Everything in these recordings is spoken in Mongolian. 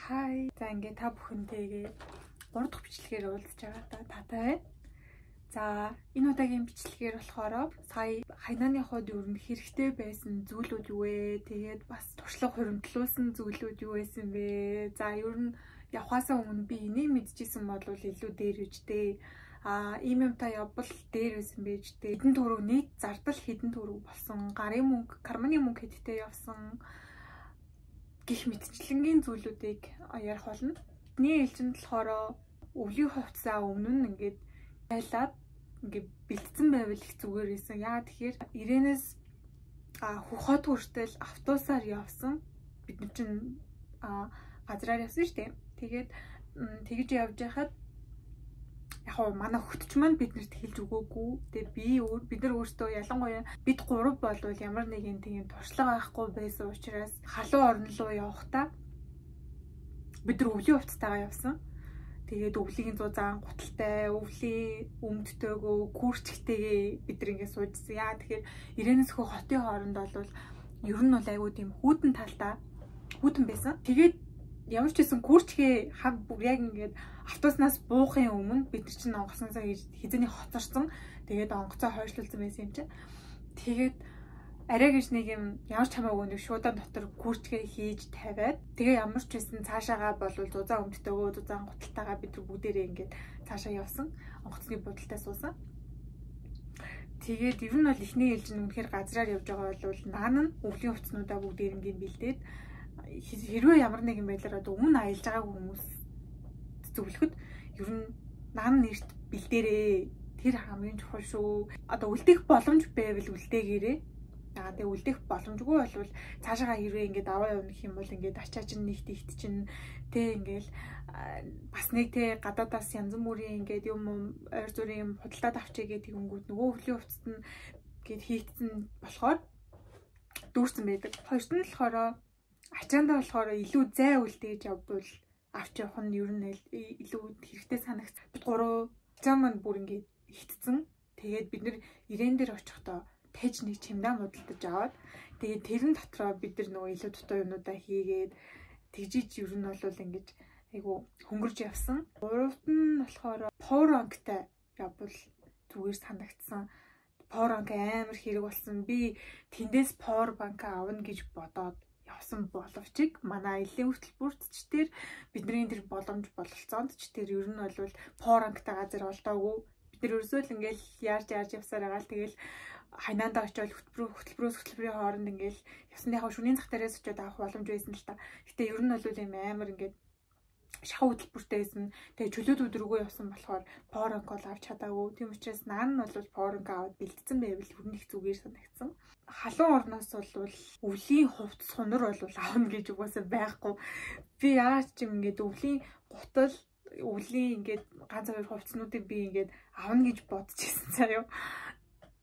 Хай. За ингээд та бүхэнтэйгээ 3 дахь бичлэгээр уулзж байгаа таатай байна. За энэ удаагийн бичлэгээр болохоор сая хайнааны хойд ер нь хэрэгтэй байсан зүйлүүд юу вэ? Тэгээд бас туршлага хуримтлуулсан зүйлүүд юу байсан бэ? За ер нь явхаасаа өмнө би энийг мэдчихсэн бол илүү дээр үжтэй. Ийм юмтай явбал дээр байсан байж дээ. Хэдэн төгрөг нийт зардал хэдэн төгрөг болсон. Гарын мөнгө, карманы мөнгө хэдтэй явсан. Гэх мэтчлэнгийн зүйлүүдийг ярих болно. Бидний ээлжинд болохоор өвлийн хувцас өмнө нь ингээд байлаад ингээд бэлдсэн байвал их зүгээр байсан. Яа тэгэхээр ирээнээс хөхөт хүртэл автобусаар явсан. Бид нар чинь газраар явсан шүү дээ. Тэгээд тэгж явж байхад яг нь манай хөгтч маань биднэрт хэлж өгөөгүй. Тэгээ бид нар өөрсдөө ялангуяа бид 3 болвол ямар нэгэн тийм туршлага байхгүй байсан учраас халуун орн руу явахдаа бид нар өвлийн хувцастайгаа явсан. Тэгээд өвлийн 100 заан гуталтай, өвлийн өмдтөөгөө, күүрчгтэйгээ бид нар ингэ суужсэн. Яа тэгэхээр ирээнээс хөө хотын хооронд бол ер нь бол айгүй тийм хүүтэн талтай хүүтэн байсан. Тэгээд ямар ч гэсэн күүрчгээ хав бүр яг ингээд автобуснаас буухын өмнө бид нар чинь онгоцноосоо хизээний хоцорсон. Тэгээд онгоцоо хойшлуулсан байсан юм чинь. Тэгээд арай гэж нэг юм ямар ч хамаагүй нэг шуудан дотор күүрчгээ хийж тавиад тэгээ ямар ч байсан цаашаагаа болвол зузаан өмдтөөгөө зузаан гуталтайгаа бид нар бүгдээрээ ингээд цаашаа явсан. Онгоцны будалтай суусан. Тэгээд ер нь бол ихний ээлж нь үнэхээр газраар явж байгаа бол наан нь өвлийн хувцснуудаа бүгд ирэнгийн бэлдээд хэрвээ ямар нэгэн байдлаар өмнө аялж байгааг хүмүүс зөвлөхөд ер нь наан нэрт бэлдээрээ тэр хамгийн чухал шүү. Одоо үлдэх боломж байвал үлдээгээрээ. Тэгээ үлдэх боломжгүй болвол цаашаа хэрвээ ингээд аваа явах юм бол ингээд ачаа чинь нэгт ихт чинь тэ ингээл бас нэг тэ гадаадаас янз бүрийн ингээд юм ойр зүрийн юм худалдаад авчиг гэдэг өнгөд нөгөө өвлийн хувцасд нь гээд хийгдсэн болохоор дүүрсэн байдаг. Хоёрт нь болохоор ачаандаа болохоор илүү зай үлдээж явбал авч явах нь ер нь илүү хэрэгтэй санагц. Бид 3 ачаа маань бүр ингээд ихтсэн. Тэгээд бид нэр ирээн дээр очихдоо тэж нэг чимдаа модалдаж аваад тэгээд тэрэн дотроо бид нар нөгөө илүү дутуу юмудаа хийгээд тэгжиж ер нь бол ингэж айгу хөнгөрж явсан. Гуравт нь болохоор power bank-тай явбал зүгээр санагдсан. Power bank амар хэрэг болсон. Би тэндээс power bank авна гэж бодоод явсан боловч манай аяллаа хөтөлбөртч бидний тэр боломж бололцоонд ч тэр ер нь бол power bank-тай газар олдоогүй. Бид нар ерөөсөө л ингээл яарж явсаар байгаа л тэгэл хайнаандаа очиод хөтөлбөрийн хооронд ингээл явсныхаа шөнийн зах дээрээс очиод авах боломж байсан л та. Гэтэ ер нь бол юм амар ингээд шахуу хөтөлбөртэй байсан. Тэгээ чөлөөт өдрөгөө явсан болохоор power bank авч чадаагүй. Тийм учраас наан нь бол power bank аваад бэлдсэн байвал ер нь их зүгээр санагдсан. Халуун орноос бол өвлийн хувцас хунар бол аавна гэж угаасаа байхгүй. Би яагаад ч юм ингээд өвлийн гутал өвлийн ингээд ганц хоёр хувцснуудыг би ингээд аавна гэж бодчихсон заяа.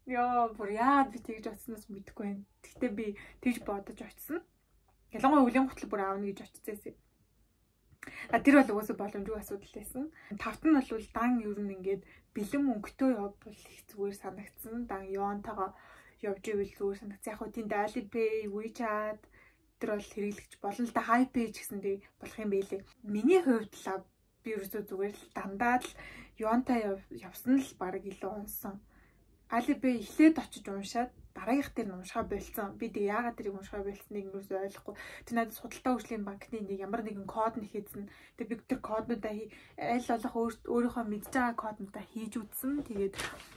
Яа, бүр яад би тэгж очсноос мэдэхгүй байна. Гэхдээ би тэгж бодож очсон. Ялангуяа өвлийн хөтөлбөр аавна гэж очижсэн. Тэр бол угаасаа боломжгүй асуудал байсан. Тавт нь бол дан ер нь ингээд бэлэн мөнгөтэй явбал их зүгээр санагдсан. Дан Йонтойгоо явж ивэл зүгээр санагдсан. Яг хөө тэнд Alipay, WeChat тэр бол хэрэглэгч болно л да. HiPay ч гэсэндээ болох юм байлээ. Миний хувьд л би ерөөсөө зүгээр л дандаа л Йонтой явсан л баг илүү онсон. Alipay эхлээд очиж уншаад дараагийнх дээр нь уншгаа болцсон. Би тэг яагаад тэрийг уншгаа болцсныг юус ойлгохгүй. Тэр надад судалtaa хөгжлийн банкны нэг ямар нэгэн код нэхээдсэн. Тэг би тэр коднуудаа аль болох өөрийнхөө мэдж байгаа коднуудаа хийж үзсэн.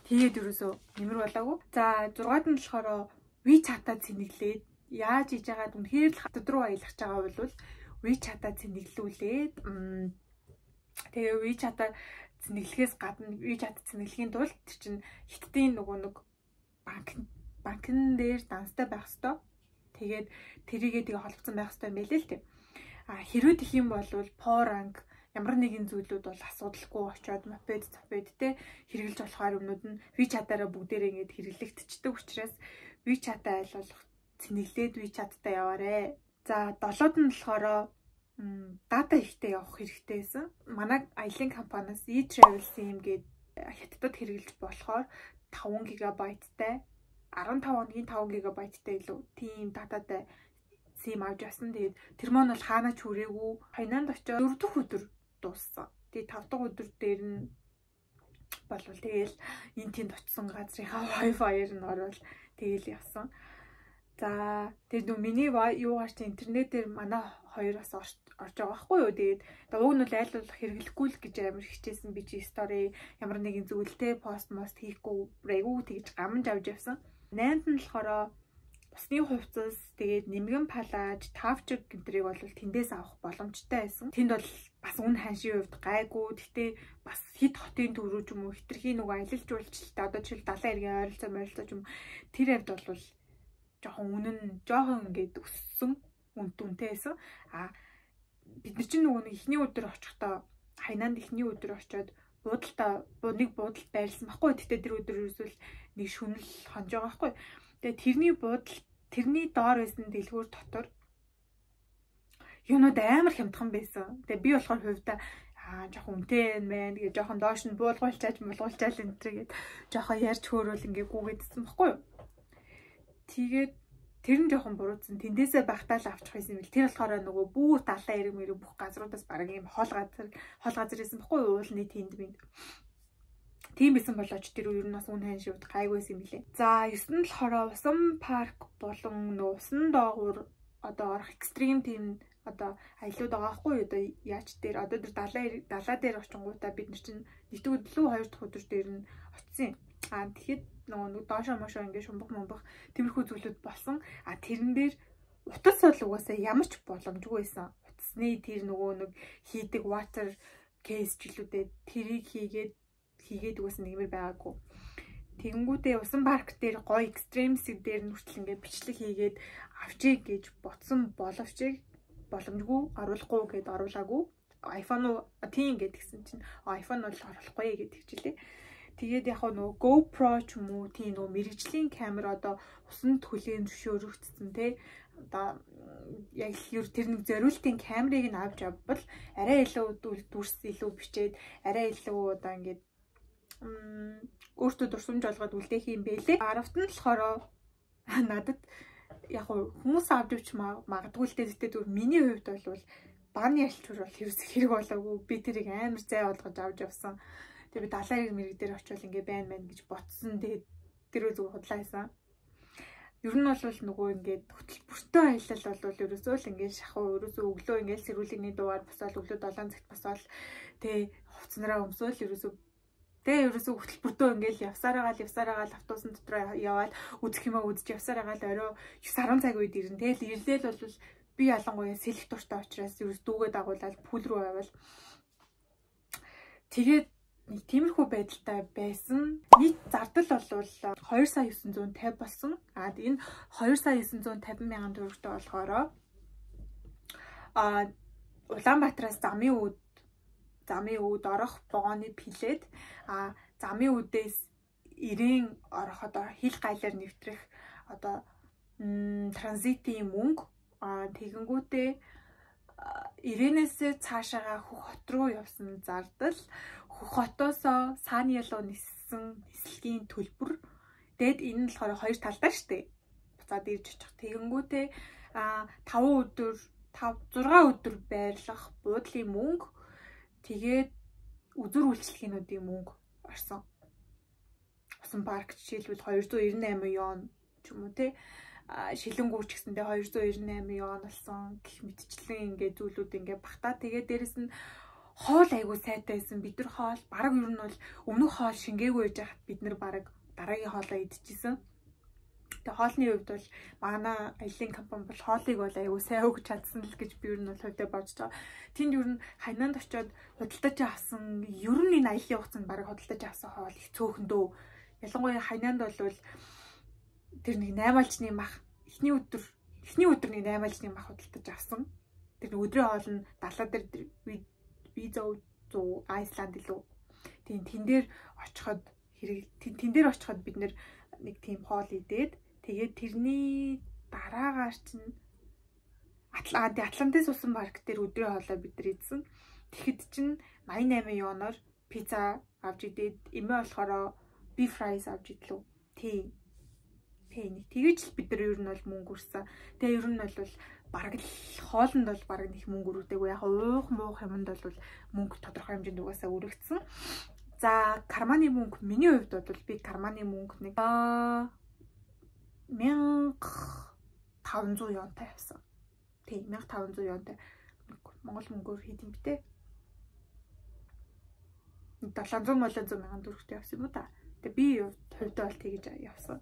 Тэгээд ерөөсөө нэмэр болоогүй. За 6-ад нь болохоор WeChat-аа цэнэглээд яаж хийж байгаад үнэхээр л хатад руу аялах байгаа бол WeChat-аа цэнэглүүлээд тэгээ WeChat-аа цэнэглэхээс гадна WeChat цэнэглэхийн тулд тэр чинь хиттийн нөгөө нэг банкн дээр данстай байх хэвээр. Тэгээд тэрийгээ тэгээ холбогдсон байх хэвээр байлээ л тийм. Хэрвээ тэх юм бол power bank ямар нэгэн зүйлүүд бол асуудалгүй очиод мопед те хэрэгжилж болохоор өмнөд нь WeChat-аараа бүгдээрээ ингэж хэрэглэгдчихдэг учраас WeChat-аа аль болох цэнэглээд WeChat-тай яваарэ. За 7-д нь болохоор дата ихтэй явах хэрэгтэй байсан. Манай аялын компаниас e-travel-sim гээд хятадд хэрэгжилж болохоор 5 GB-тай 15 хоногийн 5 GB-тай илүү тийм дататай сим авч явсан. Тэгээд тэр маань бол хаанаа ч хүрээгүй. Хайнанд очиод 4 дахь өдөр дууссан. Тэгээд 5 дахь өдөр дээр нь болвол тэгэл энэ тэнд очисон газрынхаа Wi-Fi-ээр нь орвол тэгэл явсан. За тэр нөө миний юугаар чи интернетээр манай хоёр бас орж байгаа байхгүй юу. Тэгээд уг нь бол айл болох хэрэглэхгүй л гэж амар хичээсэн. Би чи стори ямар нэгэн зүйлтэй пост мост хийхгүй рэгүү тэгж гамж авч явсан. 8-нд нь болохоор усны хувцас тэгээд нэмгэн палаж, тавчиг гэмтрийг бол тэндээс авах боломжтой байсан. Тэнд бол бас үн ханшийн хувьд гайгүй. Гэхдээ бас хит хотын төв рүү ч юм уу хитрхийн нөгөө аялал жуулчлалтай одоо жишээл 70 эргийн ойролцоо ч юм тэр хувьд бол жоохон үнэн жоохон ингээд өссөн үнэтэй байсан. Бид нар чинь нөгөө нэг эхний өдөр очихдоо Хайнанд эхний өдөр очиод нэг буудалд байрлсан байхгүй. Тэгтээ тэр өдөр ерөөсөл нэг шүнэл хонж байгаа байхгүй. Тэгээ тэрний доор байсан дэлгүүр дотор юунууд амар хямдхан байсан. Тэгээ би болохоор хувьдаа жоохон үнэтэй байна гэж жоохон доош нь буулгуулчаал энэ гээд жоохон ярьж хөөрөөл ингээ гүгээдсэн байхгүй юу. Тэгээд тэр нь жоохон буруудсан. Тэндээсээ багтаал авчих байсан юм бил. Тэр болохоор нөгөө бүр далайн эрэг мэрэг бүх газруудаас бараг юм хол газар байсан байхгүй юу. Уулны тэнд минь. Тийм байсан болооч тэр ер нь бас үн хайн шивд гайгүйсэн юм билээ. За 9-нд болохоор усан парк болон усан доогуур одоо орох экстрим тийм одоо аялууд байгаа байхгүй юу. Одоо яач дээр одоо тэр далаа дээр очингуудаа бид нар чинь нэгд өдөр 2 дахь өдөр дээр нь очисон. Тэгэхэд нөгөө доошоо мошоо ингээд шумбах тиймэрхүү зүйлүүд болсон. Тэрэн дээр утас бол угаасаа ямар ч боломжгүй байсан. Утасны тэр нөгөө нэг хийдэг water case жилүүдээ тэрийг хийгээд угаасаа нэмэр байгаагүй. Тэгэнгүүтээ усан парк дээр гоё экстремсиг дээр нүртэл ингээд бичлэг хийгээд авчиг гэж ботсон боловч боломжгүй оруулахгүй гэд оруулаагүй. iPhone тийм ингээд гисэн чинь iPhone бол оруулахгүй гэдэг хичээлээ. Тэгээд яг нөгөө GoPro ч юм уу тийм нөгөө мэрэгжлийн камер одоо усанд хүлээн зөвшөөрөгдсөн те одоо яг тэр нэг зориултын камерыг нь авч авбал арай илүү дүрс илүү бичээд арай илүү одоо ингээд өөртөө дурсамж олгоод үлдээх юм бэлээ. 10-т нь болохоор надад яг хүмүүс авч ивч магадгүй л дээ. Тэгтээ миний хувьд бол бааны ялчур бол хэрэг болоогүй. Би тэрийг амар зай олгож авч явсан. Тэгээ би далайн эрэг мэрэг дээр очивол ингээ байна гэж ботсон. Тэгээ тэрөө зүг худлаа хийсэн. Ер нь бол нөгөө ингээд хөтөлбөртөө аялал бол ерөөсөө л ингээд шахуу ерөөсөө өглөө ингээд сэрүүлэгний дугаар босоод өглөө 7 цагт босоод тэгээ хувцснараа өмсөөл ерөөсөө тэгээ ерөөсөө хөтөлбөртөө ингээд явсараагаал автобусны дотроо яваад үзэх юмаа үзэж явсараагаал орой 9-10 цаг үед ирнэ. Тэгэл ирлээл бол би ялангуяа сэлэх дуртай учраас ерөөс дүүгээ дагуулаад пул руу аваад тэгээд нэг тиймэрхүү байдалтай байсан. Нийт зардал бол 2,950 болсон. Энэ 2,950 мянган төгрөгтэй болохоор Улаанбаатараас замын үүд орох вагоны билет замын үүдээс ирээн орох одоо хил гайлаар нэвтрэх одоо транзитийн мөнгө тэгэнгүүтээ ирээнээсээ цаашаага Хөх хот руу явсан зардал Хөх хотоосоо Сааны ялуу ниссэн нислэгийн төлбөр дээд энэ нь болохоор хоёр талдаа штэ буцаад ирж очих тэгэнгүүтээ 6 өдөр байрлах буудлын мөнгө тэгээд үзүр үйлчлэгчнүүдийн мөнгө орсон. Усан парк жишээлбэл 298 ён ч юм уу те шилэнгүүч гэсэндээ 298 ён болсон гэх мэтчлэн ингээ зүйлүүд ингээ багтаа. Тэгээд дээрэс нь хоол айгуу сайтай байсан. Бид нар хоол бараг ер нь бол өмнөх хоол шингээгүй байж хат бид нар бараг дараагийн хоолоо идчихсэн. Тэгээ хоолны хувьд бол манай аялын компани бол хоолыг бол айгуу сайн өгч чадсан л гэж би ер нь бол хувьдаа бодож байгаа. Тэнд ер нь Хайнанд очиод худалдаж авсан ер нь энэ аялын хугацаанд бараг худалдаж авсан хоол их цөөхөн дөө. Ялангуяа Хайнанд бол тэр нэг 8-алчны мах эхний өдөр нэг 8-алчны мах худалдаж авсан. Тэр өдрийн хоол нь далаа дээр виза Айсланд илүү. Тэн дээр очиход бид нэр нэг тийм хоол идээд тэгээд тэрний дараагаар чинь Атлантис усан парк дээр өдрийн хоолоо бид нар идсэн. Тэгэхэд чинь 88 ёноор пицца авч идээд эмээ болохоор beef fries авч идлээ. Тийм. Тэгэж л бид нар ер нь бол мөнгө өрсөн. Тэгээ ер нь бол бараг л хоолнд бол бараг нэг мөнгө өргөдөггүй. Яг уух муух юмд бол мөнгө тодорхой хэмжээнд угаасаа өргөцсөн. За карманы мөнгө миний хувьд бол би карманы мөнгө нэг 1500 юантай явсан. Тийм 1500 юантай. Монгол мөнгөөр хийдэм битээ. 700 мянган төгрөгтэй явсан юм уу та. Тэгээ би хувьдаа бол тэгж явсан.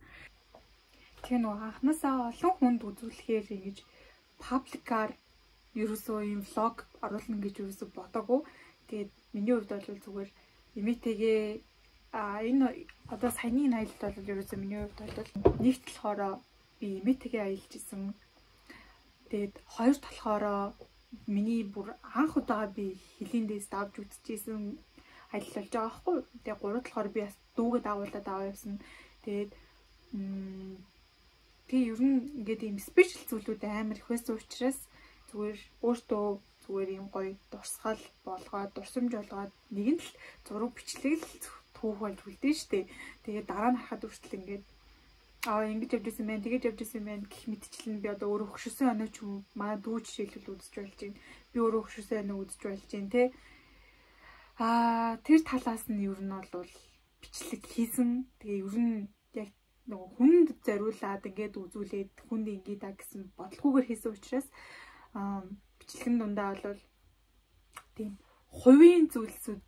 Тэгээ нөгөө анхнаасаа олон хүнд үзүүлэхээр ингэж пабликаар ерөөсөө юм влог оруулна гэж ерөөсөө бодоагүй. Тэгээд миний хувьд бол зүгээр эмээтэйгээ энэ одоо саяны аялалд бол ерөөсөө миний хувьд бол нэгт болохоор би эмээтэйгээ аялж исэн. Тэгээд хоёр талахаараа миний бүр анх удаа би хилийн дэс давж үзчихсэн аялал болж байгаа байхгүй. Тэгээ гурав талахаар би бас дүүгээ дагуулад аваа явсан. Тэгээд тэгээ ер нь ингээд ийм спешиал зүйлүүд амар их байсан учраас зүгээр өөртөө зүгээр ийм гоё дурсгал болгоод дурсамж болгоод нэгэн л зураг бичлэг л түүх болж үлдэн штэ. Тэгээ дараа нь харахад үртэл ингээд ингэж явж исэн байна, тэгэж явж исэн байна гэх мэтчлэн би одоо өөрөө хөшөсөн оноо ч юм манай дүү жишээлбэл үзэж болж байна. Би өөрөө хөшөсөн оноо үзэж болж байна те. Тэр талаас нь ер нь бол бичлэг хийсэн. Тэгээ ер нь яг нөгөө хүнд зориулаад ингээд үзүүлээд хүнд ингээд та гэсэн бодлогоогоор хийсэн учраас бичлэгэн дундаа бол тийм хувийн зүйлсүүд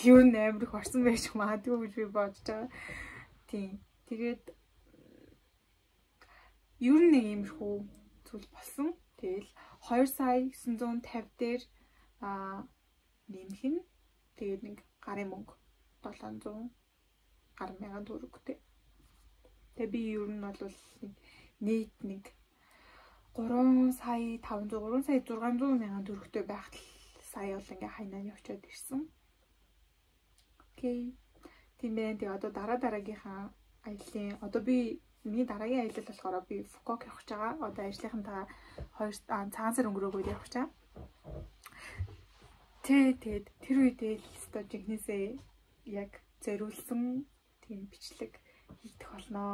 ер нь амар их орсон байж магадгүй гэж би бодож байгаа. Тийм. Тэгээд ер нь иймэрхүү зүйл болсон. Тэгэл 2,950 дээр нэмэх нь тэгээд нэг гарын мөнгө 700 гар мянган төгрөгтэй. Тэгээ би ер нь бол нийт нэг 3,500 мянган төгрөгтэй байхад сая бол ингээ хайнаа явчаад ирсэн. Окей. Тийм байна. Тэгээ одоо дараагийнхаа аяллаа одоо би миний дараагийн аялал болохоор би Фукуок явах гэж байгаа. Одоо ажлынхантайгаа цагаан сар өнгөрөөгөө явах гэж байгаа. Тэгээд тэр үедээ өстой жигнэсээ яг зориулсан тийм бичлэг хийх болно.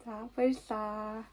За баярлалаа.